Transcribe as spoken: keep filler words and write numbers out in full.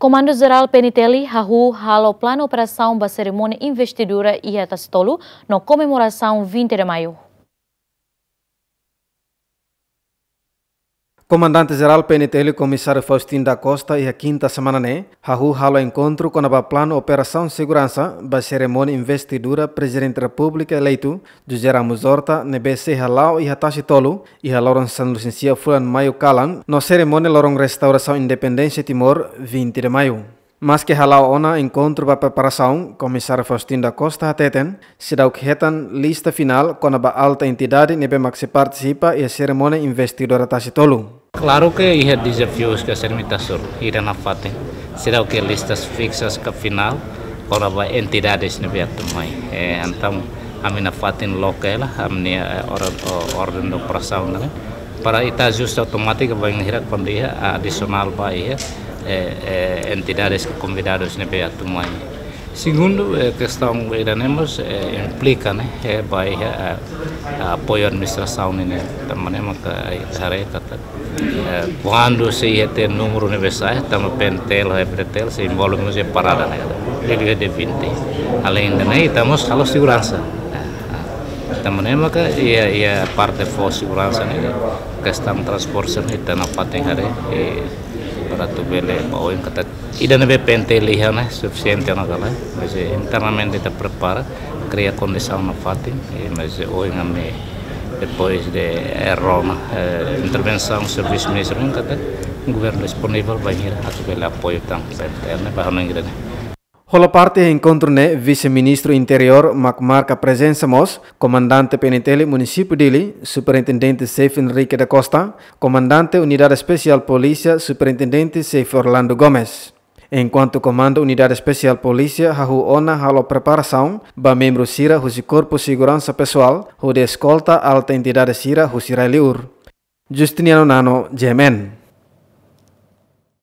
Komandu Jerál P N T L hahú halo planu operasaun ba serimónia investidura iha Tasitolu no komemorasaun vinte de Maio. Komandante Jerál P N T L Komisáriu Faustino da Costa iha kinta semana ne'e hahú halo enkontru kona-ba planu operasaun seguransa ba serimónia investidura Prezidente Repúblika eleitu José Ramos Horta ne'ebé sei hala'o iha Tasitolu iha loron sanulu-resin-sia fulan Maio kalan no serimónia loron restaurasaun independénsia Timor vinte de Maio. Maske hala'o ona enkontru ba preparasaun, Komisáriu Faustino da Costa hateten, seidauk hetan lista finál kona-ba alta entidade ne'ebé mak sei partisipa iha serimónia investidura Tasitolu. Klaru ke iha dezafius ke sira mita sur, ida nafatin. Seidauk iha listas fiksas ka finál, kona-ba entidades ne'ebé atu mai. Eh, entaun, ami nafatin loke hela, ami-nia, eh, orden, o-, orden de operasaun ne'e. Para ita ajusta automátika bainhira kuandu iha adisionál ba iha, eh, eh, entidades ka konvidadus ne'ebé atu mai. Segundu, eh, kestaun ida-ne'e mós, eh, implika, ne'e, eh, ba iha, eh, apoiu administrasaun ne'e, tanba ne'e maka, eh, haree katak, eh, kuandu sei iha tiha númeru ne'ebé sa'e, tanba P N T L ho F D T L sei envolve mós iha parada ne'e, liuliu iha D vinte. Além de ne'e, ita mós halo seguransa. Eh, eh, tanba ne'e maka iha, iha parte fó seguransa ne'e, kestaun transporte ne'e, ita nafatin haree, eh, para atu bele ba oin katak ida ne'ebé P N T L iha ne'e sufisiente ona ka lae, mas, eh, internamente ita prepara, kria kondisaun nafatin, eh, mas, eh, oin ami depois de, eh, rona, eh, intervensaun servisu ministru ne'e katak governu disponivel bainhira atu bele apoiu tan P N T L ne'e ba hanoin ida-ne'e. Hola parte iha enkontru ne'e Vise-Ministru Interiór mak marka prezensa mós, Komandante P N T L Munisípiu Dili, Superintendente Xefe Henrique da Costa, Komandante Unidade Espesiál Polísia, Superintendente Xefe Orlando Gomes. Enkuantu Komandu Unidade Espesiál Polísia hahú ona halo preparasaun ba membru sira husi Korpu Seguransa Pesoál hodi eskolta alta entidade sira husi rai-liur. Justiniano Nano, G M N.